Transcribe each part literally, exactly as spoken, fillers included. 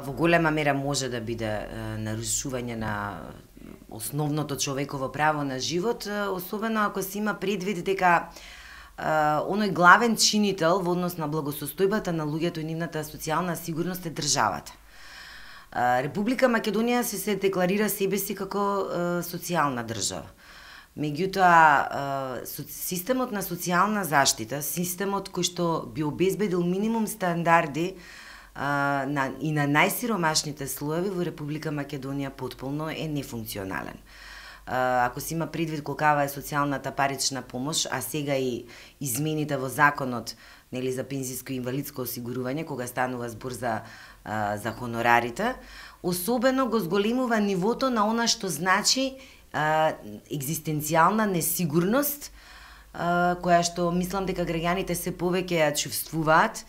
Во голема мера може да биде нарушување на основното човеково право на живот, особено ако се има предвид дека оној главен чинител во однос на благосостојбата на луѓето и нивната социјална сигурност е државата. Република Македонија се се декларира себе си како социјална држава. Меѓутоа, системот на социјална заштита, системот кој што би обезбедил минимум стандарди а, на, и на најсиромашните слоеви во Република Македонија потполно е нефункционален. А, ако се има предвид колкава е социјалната парична помош, а сега и измените во законот, нели, за пензиско и инвалидско осигурување, кога станува збор за, а, за хонорарите, особено го зголемува нивото на она што значи а, екзистенцијална несигурност, а, која што мислам дека граѓаните се повеќе ја чувствуваат,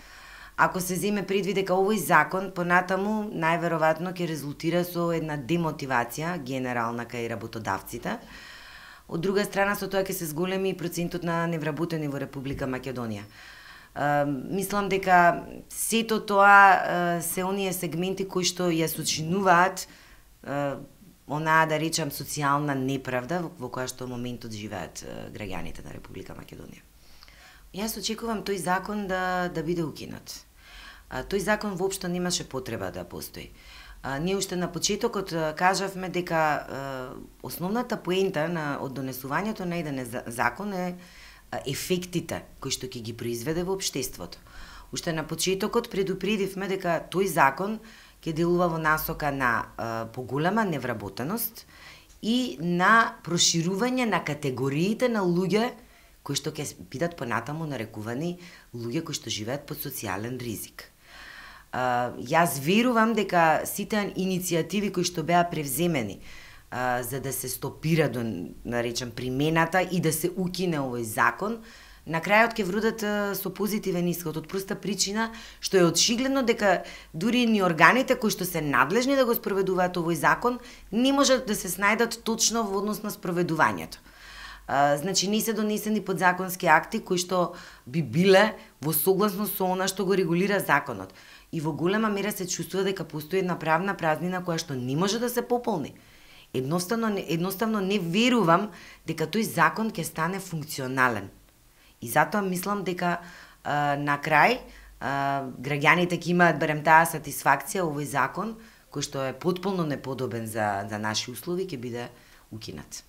ако се земе предвид дека овој закон понатаму најверојатно ќе резултира со една демотивација генерална кај работодавците. Од друга страна, со тоа ќе се зголеми и процентот на невработени во Република Македонија. Uh, мислам дека сето тоа uh, се оние сегменти кои што ја сочинуваат uh, онаа, да речам, социјална неправда во која што моментот живеат uh, граѓаните на Република Македонија. Јас очекувам тој закон да, да биде укинат. Uh, тој закон воопшто немаше потреба да постои. Uh, ние уште на почетокот uh, кажавме дека uh, основната поента на од донесувањето на еден закон е ефектите кои што ќе ги произведе во општеството. Уште на почетокот предупредивме дека тој закон ќе делува во насока на а, поголема невработеност и на проширување на категориите на луѓе кои што ќе бидат понатаму нарекувани луѓе кои што живеат под социјален ризик. А, јас верувам дека сите иницијативи кои што беа превземени Uh, за да се стопира, до наречам, примената и да се укине овој закон, на крајот ќе вродат uh, со позитивен исход, од проста причина што е очигледно дека дури ни органите кои што се надлежни да го спроведуваат овој закон не можат да се снајдат точно во однос на спроведувањето. Uh, значи не се донесени подзаконски акти кои што би биле во согласност со она што го регулира законот. И во голема мера се чувствува дека постои една правна празнина која што не може да се пополни. Едноставно, едноставно не верувам дека тој закон ќе стане функционален. И затоа мислам дека а, на крај а, граѓаните ќе имаат барем таа сатисфакција овој закон кој што е потполно неподобен за, за наши услови ќе биде укинат.